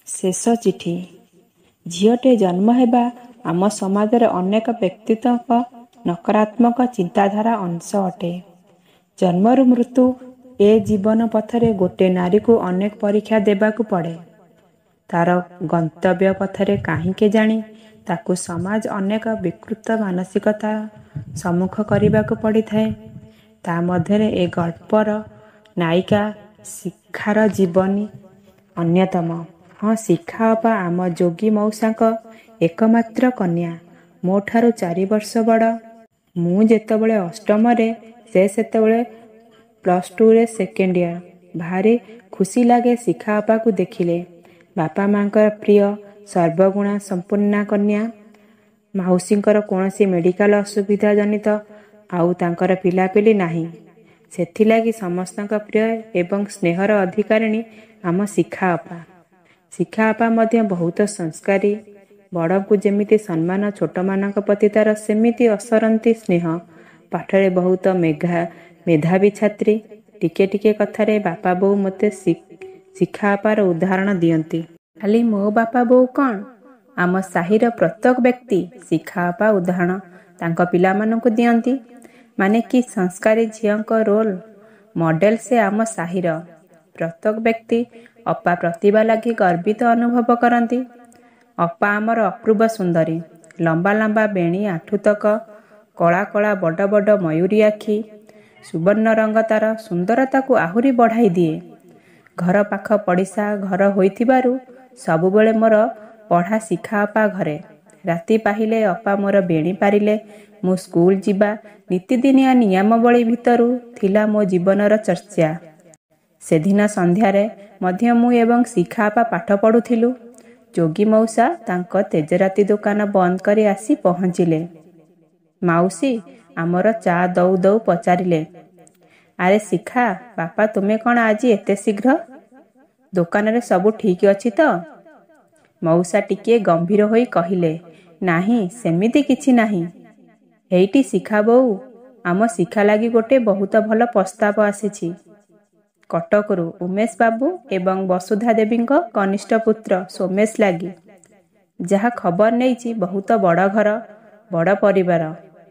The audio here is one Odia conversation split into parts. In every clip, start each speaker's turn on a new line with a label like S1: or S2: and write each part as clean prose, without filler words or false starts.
S1: ଶେଷ ଚିଠି। ଝିଅଟେ ଜନ୍ମ ହେବା ଆମ ସମାଜରେ ଅନେକ ବ୍ୟକ୍ତିତ୍ୱଙ୍କ ନକାରାତ୍ମକ ଚିନ୍ତାଧାରା ଅଂଶ ଅଟେ। ଜନ୍ମରୁ ମୃତ୍ୟୁ ଏ ଜୀବନ ପଥରେ ଗୋଟେ ନାରୀକୁ ଅନେକ ପରୀକ୍ଷା ଦେବାକୁ ପଡ଼େ। ତାର ଗନ୍ତବ୍ୟ ପଥରେ କାହିଁ କେଜାଣି ତାକୁ ସମାଜ ଅନେକ ବିକୃତ ମାନସିକତା ସମ୍ମୁଖ କରିବାକୁ ପଡ଼ିଥାଏ। ତା ମଧ୍ୟରେ ଏ ଗଳ୍ପର ନାୟିକା ଶିଖାର ଜୀବନୀ ଅନ୍ୟତମ। ହଁ, ଶିଖା ଅପା ଆମ ଯୋଗୀ ମଉସାଙ୍କ ଏକମାତ୍ର କନ୍ୟା। ମୋ ଠାରୁ 4 ବର୍ଷ ବଡ଼। ମୁଁ ଯେତେବେଳେ ଅଷ୍ଟମରେ, ସେ ସେତେବେଳେ +2ରେ ସେକେଣ୍ଡ ଇୟର। ଭାରି ଖୁସି ଲାଗେ ଶିଖା ଅପାକୁ ଦେଖିଲେ। ବାପା ମାଆଙ୍କର ପ୍ରିୟ, ସର୍ବଗୁଣା ସମ୍ପନ୍ନା କନ୍ୟା। ମାଉସୀଙ୍କର କୌଣସି ମେଡ଼ିକାଲ ଅସୁବିଧା ଜନିତ ଆଉ ତାଙ୍କର ପିଲାପିଲି ନାହିଁ। ସେଥିଲାଗି ସମସ୍ତଙ୍କ ପ୍ରିୟ ଏବଂ ସ୍ନେହର ଅଧିକାରିଣୀ ଆମ ଶିଖା ଅପା। ଶିଖା ଅପା ମଧ୍ୟ ବହୁତ ସଂସ୍କାରୀ। ବଡ଼ଙ୍କୁ ଯେମିତି ସମ୍ମାନ, ଛୋଟମାନଙ୍କ ପ୍ରତି ତାର ସେମିତି ଅସରନ୍ତି ସ୍ନେହ। ପାଠରେ ବହୁତ ମେଧାବୀ ଛାତ୍ରୀ। ଟିକେ ଟିକେ କଥାରେ ବାପା ବୋଉ ମୋତେ ଶିଖା ଅପାର ଉଦାହରଣ ଦିଅନ୍ତି। ଖାଲି ମୋ ବାପା ବୋଉ କ'ଣ, ଆମ ସାହିର ପ୍ରତ୍ୟେକ ବ୍ୟକ୍ତି ଶିଖା ଅପା ଉଦାହରଣ ତାଙ୍କ ପିଲାମାନଙ୍କୁ ଦିଅନ୍ତି। ମାନେ କି ସଂସ୍କାରୀ ଝିଅଙ୍କ ରୋଲ ମଡେଲ ସେ ଆମ ସାହିର। ପ୍ରତ୍ୟେକ ବ୍ୟକ୍ତି ଅପା ପ୍ରତିଭା ଲାଗି ଗର୍ବିତ ଅନୁଭବ କରନ୍ତି। ଅପା ଆମର ଅପୂର୍ବ ସୁନ୍ଦରୀ। ଲମ୍ବା ଲମ୍ବା ବେଣୀ ଆଣ୍ଠୁତକ, କଳା କଳା ବଡ଼ ବଡ଼ ମୟୂରୀ ଆଖି, ସୁବର୍ଣ୍ଣ ରଙ୍ଗ ତାର ସୁନ୍ଦରତାକୁ ଆହୁରି ବଢ଼ାଇ ଦିଏ। ଘର ପାଖ ପଡ଼ିଶା ଘର ହୋଇଥିବାରୁ ସବୁବେଳେ ମୋର ପଢ଼ା ଶିଖା ଅପା ଘରେ। ରାତି ପାହିଲେ ଅପା ମୋର ବେଣୀ ପାରିଲେ ମୁଁ ସ୍କୁଲ ଯିବା ନିତିଦିନିଆ ନିୟମାବଳୀ ଭିତରୁ ଥିଲା ମୋ ଜୀବନର ଚର୍ଚ୍ଚା। ସେଦିନ ସନ୍ଧ୍ୟାରେ ମଧ୍ୟ ମୁଁ ଏବଂ ଶିଖା ଅପା ପାଠ ପଢ଼ୁଥିଲୁ। ଯୋଗୀ ମଉସା ତାଙ୍କ ତେଜରାତି ଦୋକାନ ବନ୍ଦ କରି ଆସି ପହଞ୍ଚିଲେ। ମାଉସୀ ଆମର ଚା ଦଉ ଦଉ ପଚାରିଲେ, ଆରେ ଶିଖା ବାପା, ତୁମେ କ'ଣ ଆଜି ଏତେ ଶୀଘ୍ର? ଦୋକାନରେ ସବୁ ଠିକ୍ ଅଛି ତ? ମଉସା ଟିକିଏ ଗମ୍ଭୀର ହୋଇ କହିଲେ, ନାହିଁ, ସେମିତି କିଛି ନାହିଁ। ହେଇଟି ଶିଖା ବୋଉ, ଆମ ଶିଖା ଲାଗି ଗୋଟେ ବହୁତ ଭଲ ପ୍ରସ୍ତାବ ଆସିଛି କଟକରୁ ଉମେଶ ବାବୁ ଏବଂ ବସୁଧା ଦେବୀଙ୍କ କନିଷ୍ଠ ପୁତ୍ର ସୋମେଶ ଲାଗି। ଯାହା ଖବର ନେଇଛି, ବହୁତ ବଡ଼ ଘର, ବଡ଼ ପରିବାର,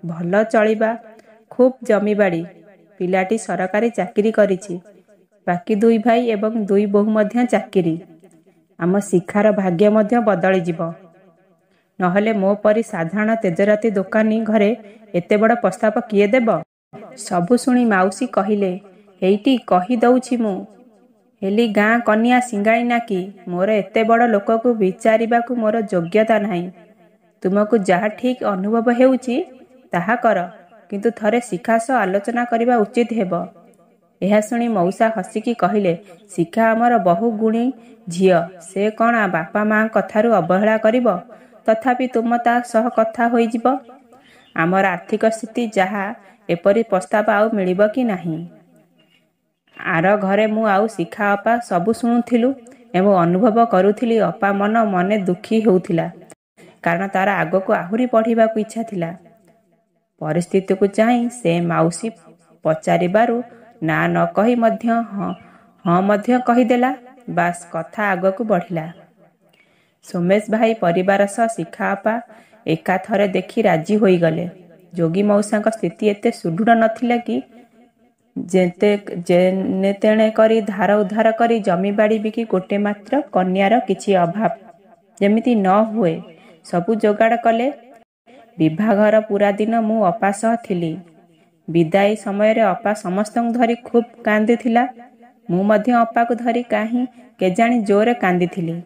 S1: ଭଲ ଚଳିବା, ଖୁବ୍ ଜମିବାଡ଼ି। ପିଲାଟି ସରକାରୀ ଚାକିରି କରିଛି। ବାକି 2 ଭାଇ ଏବଂ 2 ବୋହୂ ମଧ୍ୟ ଚାକିରି। ଆମ ଶିଖାର ଭାଗ୍ୟ ମଧ୍ୟ ବଦଳିଯିବ। ନହେଲେ ମୋ ପରି ସାଧାରଣ ତେଜରାତି ଦୋକାନୀ ଘରେ ଏତେ ବଡ଼ ପ୍ରସ୍ତାବ କିଏ ଦେବ? ସବୁ ଶୁଣି ମାଉସୀ କହିଲେ, ହେଇଟି କହି ଦଉଛି, ମୁଁ ହେଲି ଗାଁ କନିଆ ସିଙ୍ଗାଣି ନାକି, ମୋର ଏତେ ବଡ଼ ଲୋକକୁ ବିଚାରିବାକୁ ମୋର ଯୋଗ୍ୟତା ନାହିଁ। ତୁମକୁ ଯାହା ଠିକ୍ ଅନୁଭବ ହେଉଛି ତାହା କର, କିନ୍ତୁ ଥରେ ଶିଖା ସହ ଆଲୋଚନା କରିବା ଉଚିତ ହେବ। ଏହା ଶୁଣି ମଉସା ହସିକି କହିଲେ, ଶିଖା ଆମର ବହୁ ଗୁଣୀ ଝିଅ, ସେ କ'ଣ ବାପା ମାଆଙ୍କ କଥାରୁ ଅବହେଳା କରିବ? ତଥାପି ତୁମ ତା ସହ କଥା ହୋଇଯିବ। ଆମର ଆର୍ଥିକ ସ୍ଥିତି ଯାହା, ଏପରି ପ୍ରସ୍ତାବ ଆଉ ମିଳିବ କି ନାହିଁ। ଆର ଘରେ ମୁଁ ଆଉ ଶିଖା ଅପା ସବୁ ଶୁଣୁଥିଲୁ ଏବଂ ଅନୁଭବ କରୁଥିଲି ଅପା ମନ ମନେ ଦୁଃଖୀ ହେଉଥିଲା, କାରଣ ତାର ଆଗକୁ ଆହୁରି ପଢ଼ିବାକୁ ଇଚ୍ଛା ଥିଲା। ପରିସ୍ଥିତିକୁ ଚାହିଁ ସେ ମାଉସୀ ପଚାରିବାରୁ ନା ନ କହି ମଧ୍ୟ ହଁ ହଁ ମଧ୍ୟ କହିଦେଲା। ବାସ୍, କଥା ଆଗକୁ ବଢ଼ିଲା। ସୋମେଶ ଭାଇ ପରିବାର ସହ ଶିଖା ଅପା ଏକାଥରେ ଦେଖି ରାଜି ହୋଇଗଲେ। ଯୋଗୀ ମଉସାଙ୍କ ସ୍ଥିତି ଏତେ ସୁଦୃଢ଼ ନଥିଲା କି ଯେନେ ତେଣେ କରି ଧାର ଉଧାର କରି ଜମିବାଡ଼ି ବିକି ଗୋଟେ ମାତ୍ର କନ୍ୟାର କିଛି ଅଭାବ ଯେମିତି ନ ହୁଏ ସବୁ ଯୋଗାଡ଼ କଲେ। ବିଭାଘର ପୁରା ଦିନ ମୁଁ ଅପା ସହ ଥିଲି। ବିଦାୟୀ ସମୟରେ ଅପା ସମସ୍ତଙ୍କୁ ଧରି ଖୁବ୍ କାନ୍ଦିଥିଲା। ମୁଁ ମଧ୍ୟ ଅପାକୁ ଧରି କାହିଁ କେଜାଣି ଜୋରରେ କାନ୍ଦିଥିଲି।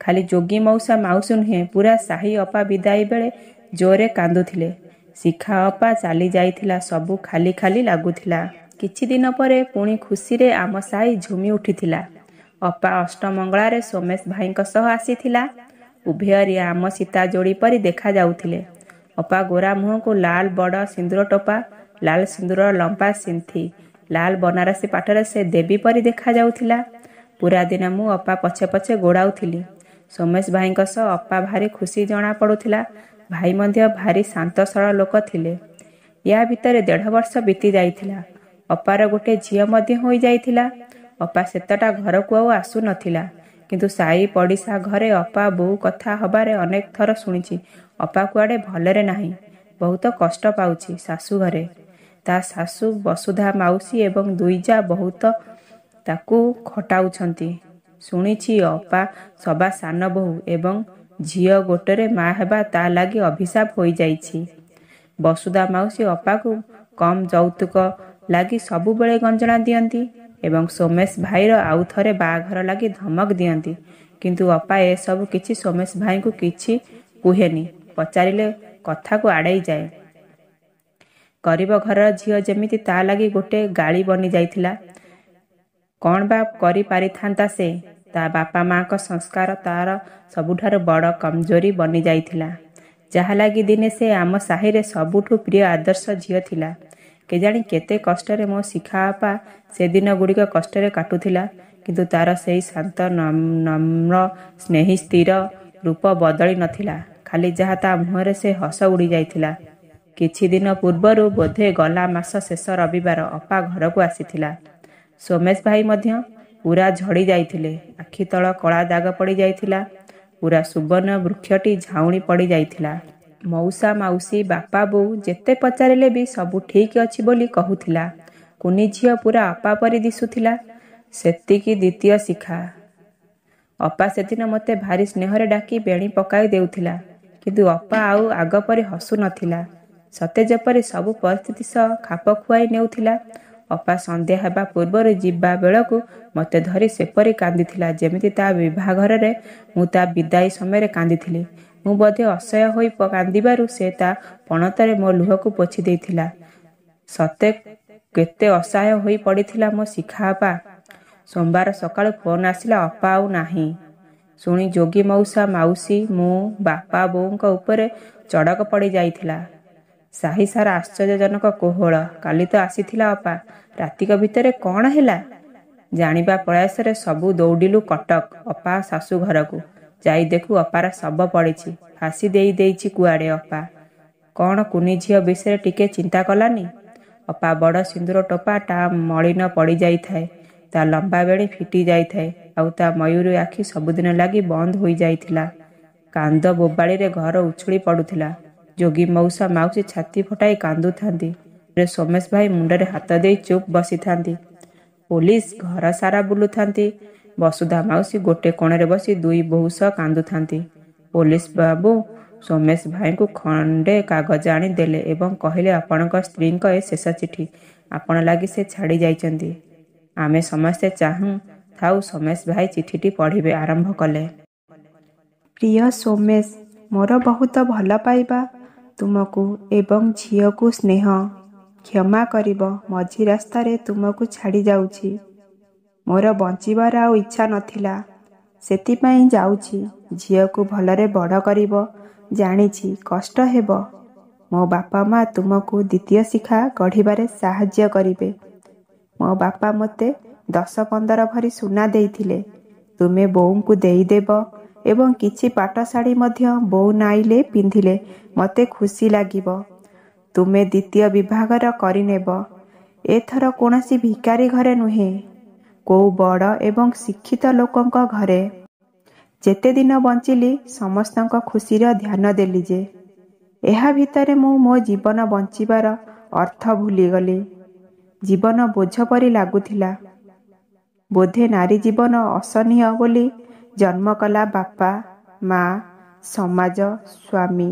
S1: ଖାଲି ଯୋଗୀ ମଉସା ମାଉସୀ ନୁହେଁ, ପୁରା ସାହି ଅପା ବିଦାୟୀ ବେଳେ ଜୋରରେ କାନ୍ଦୁଥିଲେ। ଶିଖା ଅପା ଚାଲି ଯାଇଥିଲା, ସବୁ ଖାଲି ଖାଲି ଲାଗୁଥିଲା। କିଛି ଦିନ ପରେ ପୁଣି ଖୁସିରେ ଆମ ସାହି ଝୁମି ଉଠିଥିଲା। ଅପା ଅଷ୍ଟମଙ୍ଗଳାରେ ସୋମେଶ ଭାଇଙ୍କ ସହ ଆସିଥିଲା। ଉଭୟ ରାମ ସୀତା ଯୋଡ଼ି ପରି ଦେଖାଯାଉଥିଲେ। ଅପା ଗୋରା ମୁହଁକୁ ଲାଲ ବଡ଼ ସିନ୍ଦୁର ଟୋପା, ଲାଲ ସିନ୍ଦୁରର ଲମ୍ବା ସିନ୍ଥି, ଲାଲ ବନାରସୀ ପାଟରେ ସେ ଦେବୀ ପରି ଦେଖାଯାଉଥିଲା। ପୁରା ଦିନ ମୁଁ ଅପା ପଛେ ପଛେ ଗୋଡ଼ାଉଥିଲି। ସୋମେଶ ଭାଇଙ୍କ ସହ ଅପା ଭାରି ଖୁସି ଜଣା ପଡ଼ୁଥିଲା। ଭାଇ ମଧ୍ୟ ଭାରି ଶାନ୍ତ ସରଳ ଲୋକ ଥିଲେ। ୟା ଭିତରେ 1.5 ବର୍ଷ ବିତି ଯାଇଥିଲା। ଅପାର ଗୋଟେ ଝିଅ ମଧ୍ୟ ହୋଇଯାଇଥିଲା। ଅପା ସେତେଟା ଘରକୁ ଆଉ ଆସୁନଥିଲା। କିନ୍ତୁ ସାଇ ପଡ଼ିଶା ଘରେ ଅପା ବୋଉ କଥା ହବାରେ ଅନେକ ଥର ଶୁଣିଛି ଅପା କୁଆଡ଼େ ଭଲରେ ନାହିଁ, ବହୁତ କଷ୍ଟ ପାଉଛି ଶାଶୁଘରେ। ତା ଶାଶୁ ବସୁଧା ମାଉସୀ ଏବଂ ଦୁଇ ଯା ବହୁତ ତାକୁ ଖଟାଉଛନ୍ତି। ଶୁଣିଛି ଅପା ସବା ସାନ ବୋହୂ ଏବଂ ଝିଅ ଗୋଟେରେ ମା ହେବା ତା ଲାଗି ଅଭିଶାପ ହୋଇଯାଇଛି। ବସୁଧା ମାଉସୀ ଅପାକୁ କମ୍ ଯୌତୁକ ଲାଗି ସବୁବେଳେ ଗଞ୍ଜଣା ଦିଅନ୍ତି ଏବଂ ସୋମେଶ ଭାଇର ଆଉ ଥରେ ବାହାଘର ଲାଗି ଧମକ ଦିଅନ୍ତି। କିନ୍ତୁ ଅପା ଏସବୁ କିଛି ସୋମେଶ ଭାଇଙ୍କୁ କିଛି କୁହେନି, ପଚାରିଲେ କଥାକୁ ଆଡ଼େଇ ଯାଏ। ଗରିବ ଘରର ଝିଅ ଯେମିତି ତା ଲାଗି ଗୋଟେ ଗାଳି ବନି ଯାଇଥିଲା। କ'ଣ ବା କରିପାରିଥାନ୍ତା ସେ? ତା ବାପା ମାଙ୍କ ସଂସ୍କାର ତାର ସବୁଠାରୁ ବଡ଼ କମଜୋରି ବନିଯାଇଥିଲା, ଯାହା ଲାଗି ଦିନେ ସେ ଆମ ସାହିରେ ସବୁଠୁ ପ୍ରିୟ ଆଦର୍ଶ ଝିଅ ଥିଲା। କେଜାଣି କେତେ କଷ୍ଟରେ ମୋ ଶିଖା ଅପା ସେଦିନ ଗୁଡ଼ିକ କଷ୍ଟରେ କାଟୁଥିଲା, କିନ୍ତୁ ତାର ସେଇ ଶାନ୍ତ, ନମ୍ର, ସ୍ନେହୀ, ସ୍ଥିର ରୂପ ବଦଳି ନଥିଲା। ଖାଲି ଯାହା ତା ମୁହଁରେ ସେ ହସ ଉଡ଼ିଯାଇଥିଲା। କିଛି ଦିନ ପୂର୍ବରୁ, ବୋଧେ ଗଲା ମାସ ଶେଷ ରବିବାର, ଅପା ଘରକୁ ଆସିଥିଲା। ସୋମେଶ ଭାଇ ମଧ୍ୟ ପୁରା ଝଡ଼ି ଯାଇଥିଲେ। ଆଖି ତଳ କଳା ଦାଗ ପଡ଼ିଯାଇଥିଲା। ପୁରା ସୁବର୍ଣ୍ଣ ବୃକ୍ଷଟି ଝାଉଁଳି ପଡ଼ିଯାଇଥିଲା। ମଉସା ମାଉସୀ, ବାପା ବୋଉ ଯେତେ ପଚାରିଲେ ବି ସବୁ ଠିକ୍ ଅଛି ବୋଲି କହୁଥିଲା। କୁନି ଝିଅ ପୁରା ଅପା ପରି ଦିଶୁଥିଲା। ସେତିକି ଦ୍ୱିତୀୟ ଶିଖା। ଅପା ସେଦିନ ମୋତେ ଭାରି ସ୍ନେହରେ ଡାକି ବେଣୀ ପକାଇ ଦେଉଥିଲା। କିନ୍ତୁ ଅପା ଆଉ ଆଗ ପରି ହସୁ ନଥିଲା। ସତେ ଯେପରି ସବୁ ପରିସ୍ଥିତି ସହ ଖାପ ଖୁଆଇ ନେଉଥିଲା। ଅପା ସନ୍ଧ୍ୟା ହେବା ପୂର୍ବରୁ ଯିବା ବେଳକୁ ମୋତେ ଧରି ସେପରି କାନ୍ଦିଥିଲା, ଯେମିତି ତା ବିବାହଘରରେ ମୁଁ ତା ବିଦାୟୀ ସମୟରେ କାନ୍ଦିଥିଲି। ମୁଁ ବୋଧେ ଅସହ୍ୟ ହୋଇ କାନ୍ଦିବାରୁ ସେ ତା ପଣତରେ ମୋ ଲୁହକୁ ପୋଛି ଦେଇଥିଲା। ସତେ କେତେ ଅସହାୟ ହୋଇ ପଡ଼ିଥିଲା ମୋ ଶିଖା ଅପା। ସୋମବାର ସକାଳୁ ଫୋନ୍ ଆସିଲା, ଅପା ଆଉ ନାହିଁ। ଶୁଣି ଯୋଗୀ ମଉସା, ମାଉସୀ, ମୁଁ, ବାପା ବୋଉଙ୍କ ଉପରେ ଚଡ଼କ ପଡ଼ିଯାଇଥିଲା। ସାହି ସାରା ଆଶ୍ଚର୍ଯ୍ୟଜନକ କୋହଳ। କାଲି ତ ଆସିଥିଲା ଅପା, ରାତିକ ଭିତରେ କ'ଣ ହେଲା? ଜାଣିବା ପ୍ରୟାସରେ ସବୁ ଦୌଡ଼ିଲୁ କଟକ ଅପା ଶାଶୁ ଘରକୁ। ଯାଇ ଦେଖୁ ଅପାର ଶବ ପଡ଼ିଛି। ଫାଶୀ ଦେଇ ଦେଇଛି କୁଆଡ଼େ ଅପା। କ'ଣ କୁନି ଝିଅ ବିଷୟରେ ଟିକେ ଚିନ୍ତା କଲାନି? ଅପା ବଡ଼ ସିନ୍ଦୁର ଟୋପା ଟା ମଳିନ ପଡ଼ିଯାଇଥାଏ, ତା ଲମ୍ବା ବେଣୀ ଫିଟି ଯାଇଥାଏ, ଆଉ ତା ମୟୂରୀ ଆଖି ସବୁଦିନ ଲାଗି ବନ୍ଦ ହୋଇଯାଇଥିଲା। କାନ୍ଦ ବୋବାଳିରେ ଘର ଉଛୁଳି ପଡ଼ୁଥିଲା। ଯୋଗୀ ମଉସା ମାଉସୀ ଛାତି ଫଟାଇ କାନ୍ଦୁଥାନ୍ତି। ସୋମେଶ ଭାଇ ମୁଣ୍ଡରେ ହାତ ଦେଇ ଚୁପ୍ ବସିଥାନ୍ତି। ପୋଲିସ ଘର ସାରା ବୁଲୁଥାନ୍ତି। ବସୁଧା ମାଉସୀ ଗୋଟେ କୋଣରେ ବସି ଦୁଇ ବୋହୂ ସହ କାନ୍ଦୁଥାନ୍ତି। ପୋଲିସ ବାବୁ ସୋମେଶ ଭାଇଙ୍କୁ ଖଣ୍ଡେ କାଗଜ ଆଣି ଦେଲେ ଏବଂ କହିଲେ, ଆପଣଙ୍କ ସ୍ତ୍ରୀଙ୍କ ଏ ଶେଷ ଚିଠି, ଆପଣ ଲାଗି ସେ ଛାଡ଼ି ଯାଇଛନ୍ତି। ଆମେ ସମସ୍ତେ ଚାହୁଁ ଥାଉ ସୋମେଶ ଭାଇ ଚିଠିଟି ପଢ଼ିବେ ଆରମ୍ଭ କଲେ। ପ୍ରିୟ ସୋମେଶ, ମୋର ବହୁତ ଭଲ ପାଇବା ତୁମକୁ ଏବଂ ଝିଅକୁ ସ୍ନେହ। କ୍ଷମା କରିବ, ମଝି ରାସ୍ତାରେ ତୁମକୁ ଛାଡ଼ି ଯାଉଛି। ମୋର ବଞ୍ଚିବାର ଆଉ ଇଚ୍ଛା ନଥିଲା, ସେଥିପାଇଁ ଯାଉଛି। ଝିଅକୁ ଭଲରେ ବଡ଼ କରିବ, ଜାଣିଛି କଷ୍ଟ ହେବ। ମୋ ବାପା ମା ତୁମକୁ ଦ୍ୱିତୀୟ ଶିଖା ଗଢ଼ିବାରେ ସାହାଯ୍ୟ କରିବେ। ମୋ ବାପା ମୋତେ 10-15 ଭରି ସୁନା ଦେଇଥିଲେ, ତୁମେ ବୋଉଙ୍କୁ ଦେଇଦେବ ଏବଂ କିଛି ପାଟ ଶାଢ଼ୀ ମଧ୍ୟ ବୋଉ ନାଇଲେ ପିନ୍ଧିଲେ ମୋତେ ଖୁସି ଲାଗିବ। ତୁମେ ଦ୍ୱିତୀୟ ବିବାହଘର କରିନେବ। ଏଥର କୌଣସି ଭିକାରୀ ଘରେ ନୁହେଁ, କୋଉ ବଡ଼ ଏବଂ ଶିକ୍ଷିତ ଲୋକଙ୍କ ଘରେ। ଯେତେ ଦିନ ବଞ୍ଚିଲି ସମସ୍ତଙ୍କ ଖୁସିର ଧ୍ୟାନ ଦେଲି ଯେ, ଏହା ଭିତରେ ମୁଁ ମୋ ଜୀବନ ବଞ୍ଚିବାର ଅର୍ଥ ଭୁଲିଗଲି। ଜୀବନ ବୋଝ ପରି ଲାଗୁଥିଲା। ବୋଧେ ନାରୀ ଜୀବନ ଅସହନୀୟ ବୋଲି ଜନ୍ମ କଲା ବାପା, ମା, ସମାଜ, ସ୍ୱାମୀ,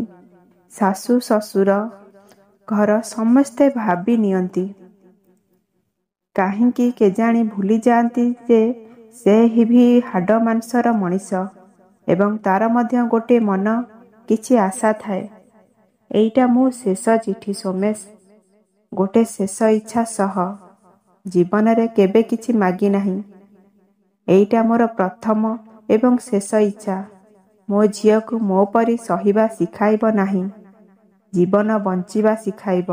S1: ଶାଶୁ, ଶ୍ୱଶୁର, ଘର ସମସ୍ତେ ଭାବି ନିଅନ୍ତି। କାହିଁକି କେଜାଣି ଭୁଲି ଯାଆନ୍ତି ଯେ ସେ ବି ହାଡ଼ ମାଂସର ମଣିଷ ଏବଂ ତାର ମଧ୍ୟ ଗୋଟେ ମନ, କିଛି ଆଶା ଥାଏ। ଏଇଟା ମୋ ଶେଷ ଚିଠି ସୋମେଶ, ଗୋଟେ ଶେଷ ଇଚ୍ଛା ସହ। ଜୀବନରେ କେବେ କିଛି ମାଗି ନାହିଁ। ଏଇଟା ମୋର ପ୍ରଥମ ଏବଂ ଶେଷ ଇଚ୍ଛା। ମୋ ଝିଅକୁ ମୋ ପରି ସହିବା ଶିଖାଇବ ନାହିଁ, ଜୀବନ ବଞ୍ଚିବା ଶିଖାଇବ।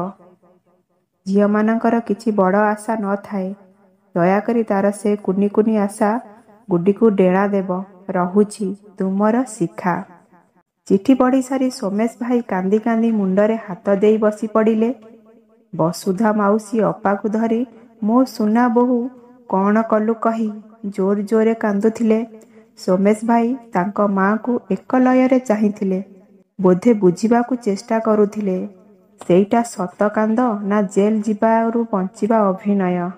S1: ଝିଅମାନଙ୍କର କିଛି ବଡ଼ ଆଶା ନ ଥାଏ। ଦୟାକରି ତାର ସେ କୁନି କୁନି ଆଶା ଗୁଡ଼ିକୁ ଡେଣା ଦେବ। ରହୁଛି, ତୁମର ଶିଖା। ଚିଠି ପଢ଼ି ସାରି ସୋମେଶ ଭାଇ କାନ୍ଦି କାନ୍ଦି ମୁଣ୍ଡରେ ହାତ ଦେଇ ବସି ପଡ଼ିଲେ। ବସୁଧା ମାଉସୀ ଅପାକୁ ଧରି ମୋ ସୁନା ବୋହୂ କ'ଣ କଲୁ କହି ଜୋର ଜୋରରେ କାନ୍ଦୁଥିଲେ। ସୋମେଶ ଭାଇ ତାଙ୍କ ମାଆଙ୍କୁ ଏକଲୟରେ ଚାହିଁଥିଲେ। ବୋଧେ ବୁଝିବାକୁ ଚେଷ୍ଟା କରୁଥିଲେ, ସେଇଟା ସତ କାନ୍ଦ ନା ଜେଲ୍ ଯିବାରୁ ବଞ୍ଚିବା ଅଭିନୟ।